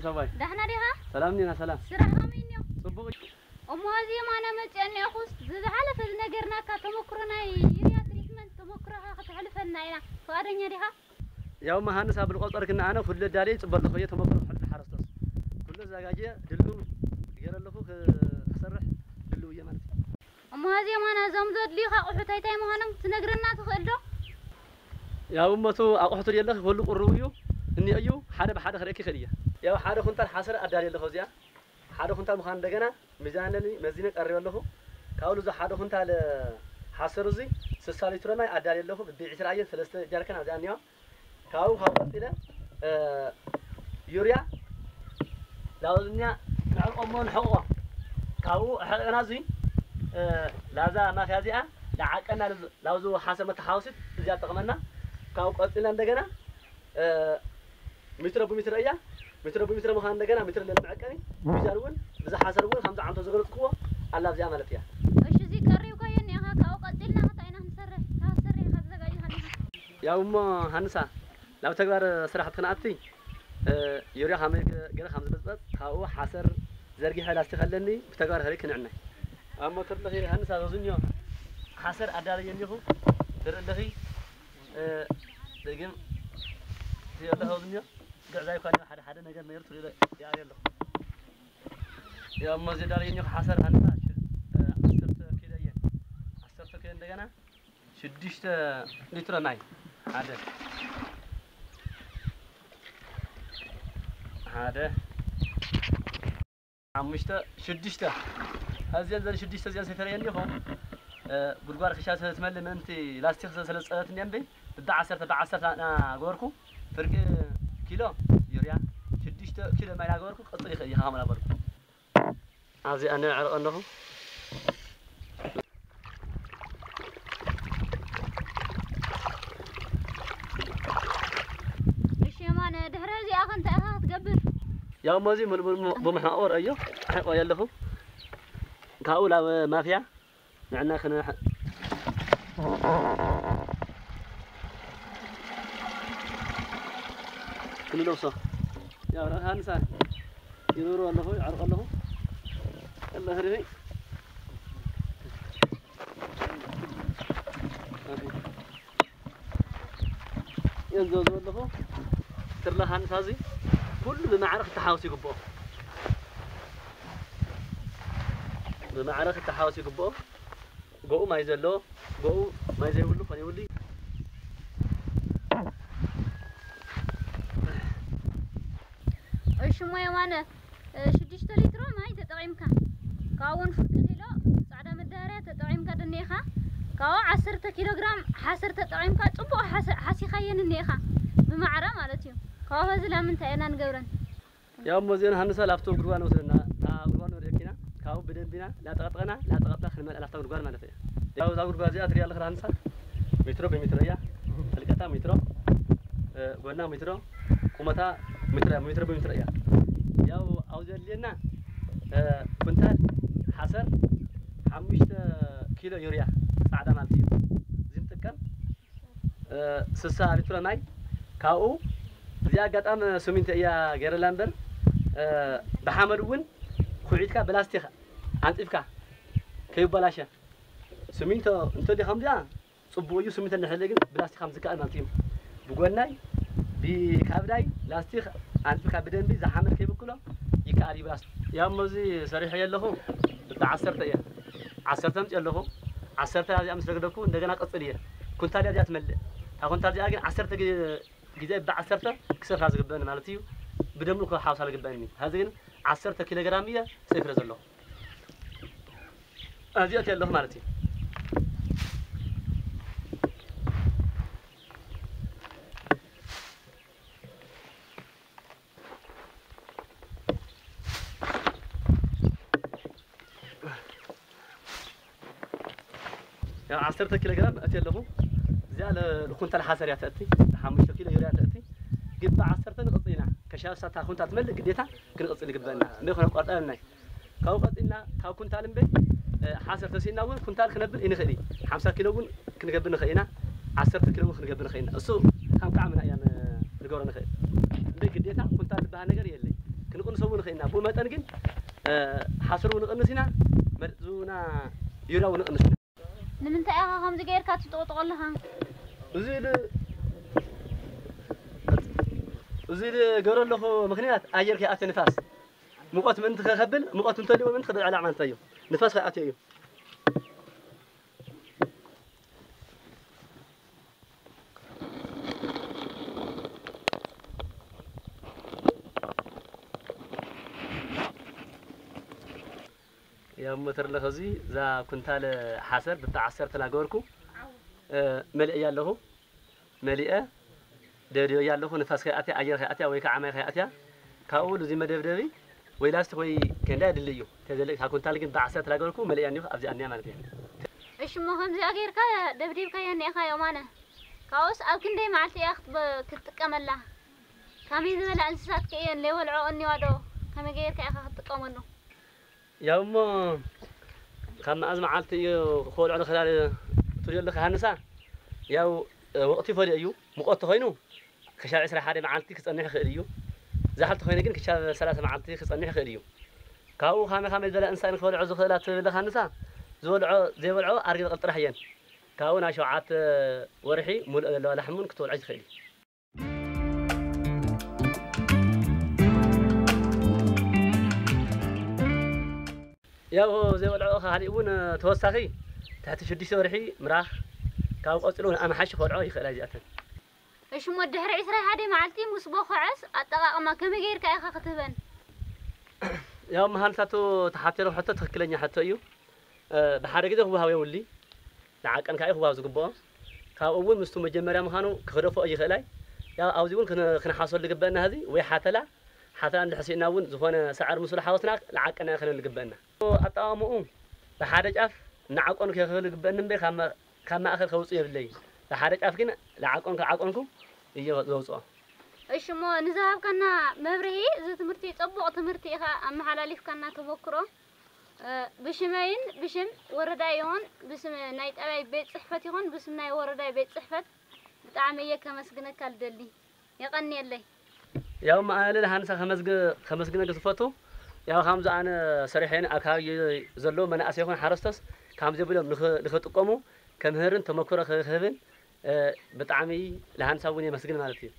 ሰባይ ዳሕና ዲኻ? ሰላም ኒና ሰላም ስራሕ ከመይ እኒኦ? ጽቡቅ እሞ እዚ የማነ መፅአ እኒኦኹስ ዝዝሓለፈ ዝነገርናካ ተመክሮ ናይ ዩርያ ትሪትመንት ተመክሮኻ ከተሕልፈልና ኢና። ፍቓደኛ ዲኻ? ያው መሃንስ ኣብ ልቆጸር ግን ኣነ ኩሉ ዳሌ ጽበል ለኹ ተመክሮ ኩሉ ሓረስቶስ ኩሉ ዘጋጀ ድሉ ገረ ለኹ ክሰርሕ ድሉ እየ ማለት እዩ። እሞ እዚ የማነ እዞም ዘድልዩኻ ኣቑሑት ኣይታይ ምዃኖም ትነግረና ትኽእል ዶ? ያው እመቱ ኣቑሑት የለኽ ኩሉ ቁሩብ እዩ እኒኦ እዩ ሓደ ብሓደ ክርእየክ ይኽእል እየ። ያው ሓደ ኩንታል ሓሰር ኣዳልየ ኣለኹ እዚኣ ሓደ ኩንታል ምዃን እንደገና ሚዛን ኣለኒ መዚነ ቀሪበ ኣለኹ። ካብኡ እዚ ሓደ ኩንታል ሓሰር እዚ ስሳ ሊትሮ ማይ ኣዳልየ ኣለኹ ብቢዒ ስራየ ሰለስተ ጃርከን ኣብዚኣ እኒኦ። ካብኡ ካብ ቀፂለ እ፣ ዩርያ ላውዝኛ ንዕቆሞ ንሕቆ ካብኡ ሕቅና እዚ እ፣ ላዛ ማፍያ እዚኣ ንዓቀና ላውዝ ሓሰር መተሓወሲት እዚኣ ትጠቕመና። ካብኡ ቀፂልና እንደገና እ፣ ሜትሮ ብሜትሮ እያ። ሜትሮ ብሜትሮ ምዃን እንደገና ሜትሮ ለንመዐቀኒ ሚዛን እውን ብዛ ሓሰር እውን ከምዚ ዓንቶ ዝገለፅክዎ ኣላ ኣብዚኣ ማለት እያ። እሺ፣ እዚ ቀሪብካዮ እኒኻ፣ ካብኡ ቀፂልና እንታይ ኢና ክንሰርሕ? ካብ ትሰርሕ ኢኻ ተዘጋጅኻ እኒኻ። ያው እሞ ሃንሳ ናብ ተግባር ስራሕ ትክንኣቲ እ፣ ዩርያ ከመይ ገ- ገለ ከም ዝበፅበፅ ካብኡ ሓሰር ዘርጊሐ ላስቲክ ኣለኒ ብተግባር ከርኢ ክንዕናይ። ኣብ ሞተር ለኺ ሃንሳ ዘዙንዮ ሓሰር ኣዳለየ እኒኹ ትርኢ ኣለኺ እ፣ ደግም ትርኢ ኣለኺ ዘዙንዮ ግዕዛይ እኳ ሓደ ሓደ ነገር ነገር ትርኢ ይኣሪ ኣለኹ። ያው እሞ እዚ ዳርየ እኒኹ ሓሰር ሃንሳ ሽ- እ፣ ዓሰርተ ኪሎ እየ ዓሰርተ ኪሎ እንደገና ሽዱሽተ ሊትሮ ማይ ሓደ ሓደ ሓሙሽተ ሽዱሽተ እዚአን ዘን ሽዱሽተ እዚአን ሰይፈረየ እንዲኹ ጉድጓድ ክሻ ትመልእ ምእንቲ ላስቲክ ስለ ዝፀበት እኒአ እምበይ ብቢ ዓሰርተ ብዓሰርተ እናገበርኩ ፍርቂ ኪሎ ዩርያ ሽዱሽተ ኪሎ ማይ እናገበርኩ ቅፅል ይኽእል ይኻ ከመላ በልኩ። ኣብዚ ኣነ ኣዕርቕ ኣለኹ። እሺ የማነ፣ ድሕሪ እዚኣ ከ እንታይ ኢኻ ክትገብር? ያው እሞ እዚ ሙሉ ሙሉ ብመሓቆር እዮ ኣሕቆ ኣለኹ። ካብኡ ናብ ማፍያ ንዕና ክነ ክንለብሶ ያው ረኻንሳ ይዞሩ ኣለኹ ይዓርቕ ኣለኹ ኣለኽርኺ የንዘዙ ኣለኹ ትርለ ሃንሳ እዚ ኩሉ ብማዕረ ክተሓወስ ይግብኦ ብማዕረ ክተሓወስ ይግብኦ ጎኡ ማይ ዘለዎ ጎኡ ማይ ዘይብሉ ኮን ይብሉ እሺ እሞ የማነ ሽዱሽተ ሊትሮ ማይ ተጠቒምካ ካብኡ እውን ፍርቂ ኪሎ ፃዕዳ መዳበርያ ተጠቒምካ ደኒኻ ካብኡ ዓሰርተ ኪሎ ግራም ሓሰር ተጠቒምካ ፅቡቕ ሓሲኻየን እኒኢኻ ብማዕረ ማለት እዩ። ካብኡ ኸዚ ላምንታይ ኢና ንገብረን? ያው እሞ እዚአን ሃንሳ ላፍቶ ጉድጓድ ንወስደና እታ ጉድጓድ ንወርደኪና ካብኡ ብደንቢና ላጠቐጠቐና ላጠቐጥና ክንመልአ ላፍታ ጉድጓድ ማለት እያ። ያው እዛ ጉድጓድ እዚኣ ትሪኣ ኣለኽላ ሃንሳ ሜትሮ ብሜትሮ እያ። ጥልቀታ ሜትሮ ጎና ሜትሮ ቁመታ ሜትሮ ሜትሮ ብሜትሮ እያ። ያው ኣብዚ ዘድልየና ኩንታል ሓሰር ሓሙሽተ ኪሎ ዩርያ ፃዕዳ ማለት እዩ። እዚ ንጥቀም ስሳ ሊትሮ ማይ ካብኡ እዚኣ ኣጋጣሚ ስሚንቶ እያ ገይረላ እምበር ብሓመድ እውን ኩዒትካ ብላስቲክ ኣንጢፍካ ከይበላሸ ስሚንቶ እንተዲ ከምዚኣ ፅቡቅ እዩ። ስሚንቶ እንድሕር ግን ብላስቲክ ከም ዝከኣል ማለት እዩ። ብጎናይ ብካብዳይ ላስቲክ ኣንጢፍካ ብደንቢ ዝሓመድ ከይብክሎ ይከኣል እዩ ብላስቲክ። ያው እሞ እዚ ሰሪሐ የለኹ ብዓሰርተ እየ ዓሰርተ ምፅ ኣለኹ ዓሰርተ እዚኣ ምስ ረግደኩ እንደገና ቀፅል እየ ኩንታል እዚኣ ትመልእ ካብ ኩንታል እዚኣ ግን ዓሰርተ ግዜ ግዜ ብዓሰርተ ክሰፍራ ዝግበአኒ ማለት እዩ። ብደምብ ክሓውሳ ዝግበአኒ ሀዚ ግን ዓሰርተ ኪሎ ግራም እየ ሰፍረ ዘለኹ። ኣዚኦት ኣለኹ ማለት እዩ። ያው ዓሰርተ ኪሎ ግራም እትየ ኣለኹ። እዚኣ ንኩንታል ሓሰር እያ ተእቲ፣ ሓሙሽተ ኪሎ ዩርያ ተእቲ። ግባ ዓሰርተ ንቕጽል ኢና። ከሻብ ሳታ ኩንታል ትመልእ ግዴታ ክንቕጽል ይግበአና። እንደ ኮነ ቆርጠልና ካብኡ ቀጺልና ካብ ኩንታል እምበይ ሓሰር ተሲእና እውን ኩንታል ክነብል ይንኽእል እዩ። ሓምሳ ኪሎ እውን ክንገብር ንኽእል ኢና። ዓሰርተ ኪሎ እውን ክንገብር ንኽእል ኢና። እሱ ከም ጣዕምና እያ ንገብሮ ንኽእል። እምበይ ግዴታ ኩንታል ዝበሃል ነገር የለይ። ክንቕንሶ እውን ንኽእል ኢና። ብኡ መጠን ግን፣ እ፣ ሓሰር እውን ንቕንስ ኢና፣ መርዙና ዩርያ እውን ንቕንስ ኢና። ንምንታይ ኢኻ ከምዚ ጌርካ ትጥቕጥቆ ኣለኻ? እዚ ል-፣ እዚ ልገብሮ ኣለኹ ምኽንያት ኣየር ከይኣትዮ ንፋስ። ሙቐት ምእንቲ ከኸብል፣ ሙቐት እንተልዩ ምእንቲ ክብዕላ ማለት እዩ። ንፋስ ከይኣትዮ እዩ። ያው ሞተር ኣለኸ እዚ፣ እዛ ኩንታል ሓሰር ብታ ዓሰርተ ላገበርኩ፣ እ፣ መሊአ ኣለኹ። መሊአ ደብድበያ ኣለኹ። ንፋስ ከይኣትያ፣ ኣየር ከይኣትያ ወይ ከዓ ማይ ከይኣትያ፣ ካብኡ እዚ መደብደቢ ወይ ላስቲክ ወይ ኬንዳ የድሊ እዩ። ተዘለቅ፣ እታ ኩንታል ግን ብዓሰርተ ላገበርኩ መሊአ እኒኹ ኣብዚኣ እኒኣ ማለት እዩ። እሺ፣ እሞ ከምዚኣ ጌርካ ደብዲብካያ እኒኢኻ ዮማነ። ካብኡስ ኣብ ክንደይ መዓልቲ እያ ክትበ-፣ ክትጥቀመላ? ከመይ ዝበላ እንስሳት ከ እየን ለይበልዖ እኒዋ ዶ? ከመይ ጌርካ ኢኻ ክትጥቀመሉ? ያው እሞ ካብ መዓዝ መዓልቲ እዩ ክበልዖ ንኽእል ትብልዮ ኣለኻ ሃንሳ? ያው፣ እ፣ ወቕቲ ይፈልዮ እዩ። ሙቐት ተኾይኑ ክሻብ ዕስራ ሓደ መዓልቲ ክጸንሕ ይኽእል እዩ። ዛሕል ተኾይኑ ግን ክሻብ ሰላሳ መዓልቲ ክጸንሕ ይኽእል እዩ። ካብኡ ካመ-፣ ካመይ ዝበላ እንስሳ እየን ክበልዖ ዝኽእላ ትብል ኣለኻ ሃንሳ? ዝበልዖ፣ ዘይበልዖ ኣርግቢ ጥራሕ እየን። ካብኡ ናብ ሸውዓተ ወርሒ ሙሉእ ዘለዋ ላሕሚ እውን ክትበልዖ ትኽእል እዩ። ያው ዘይበልዖ ካሊእ እውን ተወሳኺ ትሕቲ ሽዱሽተ ወርሒ ምራኽ፣ ካብ ቀፂሉ እውን ኣምሓሺ ክበልዖ ይኽእላ እዚኣተን። እሺ፣ እሞ ድሕሪ ዕስራ ሓደ መዓልቲ ምስ ቦኸዐስ ኣጠቓቕማ ከመይ ጌርካ ኢኻ ክትህበን? ያው መሃንሳቱ ተሓተሎ ሕቶ ትኽክለኛ ሕቶ እዩ። እ፣ ብሓደ ግዜ ክወሃብ የብሉይ። ንዓቀን ከኣ እዩ ክወሃብ ዝግብኦ። ካብኡ እውን ምስቱ መጀመርያ ምዃኑ ክኽደፎ ይኽእላይ። ያው ኣብዚ እውን ክን-፣ ክንሓሰሉ ዝግበአና ህዚ ወይ ሓተላ፣ ሓተላ እንድሕር ስኢና እውን ዝኾነ ሰዓር ምስሉ ሓወስና ንዓቀና ክነን ዝግበአና። ኣጠቓቕምኡ ብሓደ ጫፍ ንዓቀኑ ከኽእል ዝግበአኒ እምበር ካብ ማ-፣ ካብ ማእከል ከውፅእ የብለይ። ብሓደ ጫፍ ግን ንዓቀንኩ፣ ዓቀንኩ እየ ዘውፅኦ። እሺ፣ እሞ ንዝሃብካና መብርሂ፣ እዚ ትምህርቲ ጽቡቕ ትምህርቲ ኢኻ ኣመሓላሊፍካና ተመክሮ። እ፣ ብሽመይን ብሽም ወረዳ ይኹን ብስም ናይ ጣብያይ ቤት ጽሕፈት ይኹን ብስም ናይ ወረዳይ ቤት ጽሕፈት ብጣዕሚ እየ ከመስግነካ ልደሊ። የቐንየለይ። ያው መኣለል ሃንሳ ከመስግ-፣ ከመስግነክ ዝፈቱ፣ ያው ከምዚ ኣነ ሰሪሐን ኣብ ከባቢ ዘለዉ መናእሰይ ይኹን ሓረስቶስ ከምዚ ብሎም ንኽ-፣ ንኽጥቀሙ ከምህርን ተመክሮ ክህብን፣ እ፣ ብጣዕሚ ለሃንሳ እውን የመስግን ማለት እዩ።